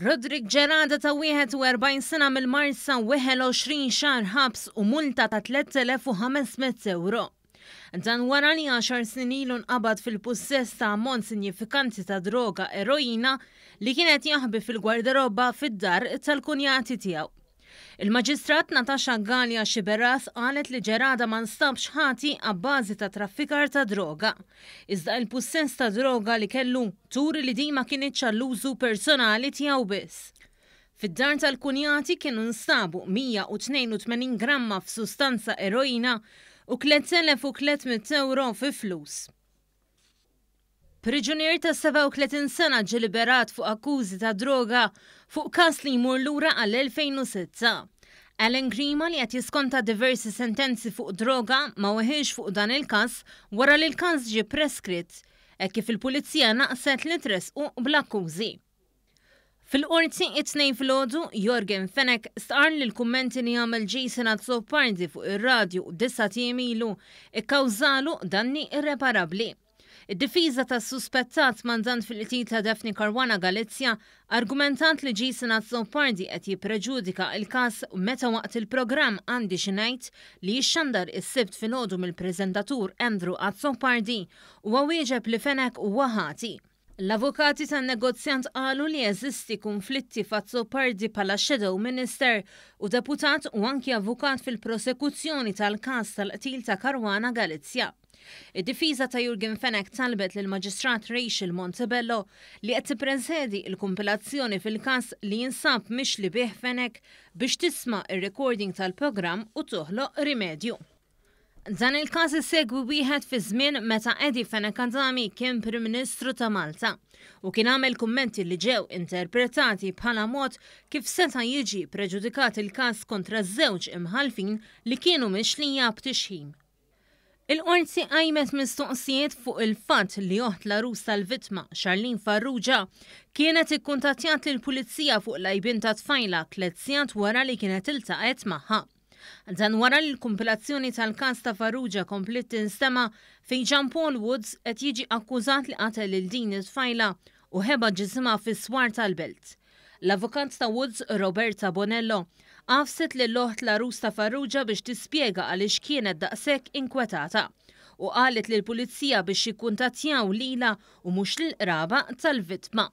Roderick Gerada ta' 41 sena mill-Marsa weħel 20 xahar ħabs u multa ta' 3,500 ewro. Dan wara li għaxar snin ilu nqabad fil-pussess ta' ammont sinjifikanti ta' droga eroina li kien qed jaħbi fil-gwardarobba fid-dar tal-kunjati tiegħu. Il-Maġistrat Natasha Galea Sciberras qalet li Gerada ma nstabx ħati abbażi ta' traffikar ta' droga. Iżda il-pussess ta' droga li kellu turi li din ma kinitx għall-użu personali tiegħu biss. Fid-dar tal-kunjati kienu nstabu 182 gramma f'sustanza eroina u 3,300 ewro fi flus. Priġunier ta' 37 sena ġie liberat fuq akkużi ta' droga fuq każ li jmur lura għall-2006. Alan Grima li qed jiskonta diversi sentenzi fuq droga ma weħilx fuq dan il-każ wara li l-każ ġie preskritt, hekk kif il-Pulizija naqset li tressqu bl-akkużi. Fil-Qorti it-Tnejn filgħodu, Yorgen Fenech stqarr li l-kummenti li għamel Jason Azzopardi fuq ir-radju disat ijiem ilu kkawżalu danni irreparabbli. Id-difiża tas-suspettat mandant fil-qtil ta' Daphne Caruana Galizia argumentat li Jason Azzopardi qed jippreġudika l-każ meta waqt il-programm Għandi Xi Ngħid li jixxandar is-Sibt filgħodu mill-preżentatur Andrew Azzopardi huwa wieġeb li Fenech huwa ħati. L-avukati tan-negozjant qalu li jeżisti kunflitti f'Azzopardi bħala Shadow Minister u deputat u anki avukat fil-prosekuzzjoni tal-każ tal-qtil ta' Caruana Galizia. Id-difiża ta' Yorgen Fenech talbet lill-Maġistrat Rachel Montebello li qed tippresedi l-kumpilazzjoni fil-każ li jinsab mixli bih Fenech biex tisma' r-recording tal-programm u toħloq rimedju. Dan il-każ isegwi wieħed fi żmien meta Eddie Fenech Adami kien Prim Ministru ta' Malta u kien għamel kummenti li ġew interpretati bħala mod kif seta' jiġi preġudikat il-każ kontra żewġ imħallfin li kienu mixlija b'tixħim. Il-Qorti qajmet mistoqsijiet fuq il-fatt li oħt l-għarus tal-vittma, Charlene Farrugia, kienet ikkuntattjat lill-Pulizija fuq l-għajbien tat-tfajla tlett sigħat wara li kienet iltaqgħet magħha. Dan wara li l-kumpilazzjoni tal-każ ta' Farrugia kompliet tinstema' fejn Jean Paul Woods qed jiġi akkużat li qatel lil din it-tfajla u ħeba ġisimha fis-swar tal-belt. L-avukat ta' Woods, Roberta Bonello, għafset lil oħt l-għarus ta' Farrugia biex tispjega għaliex kienet daqshekk inkwetata u qalet lill-pulizija biex jikkuntattjaw lilha u mhux lill-qraba tal-vittma.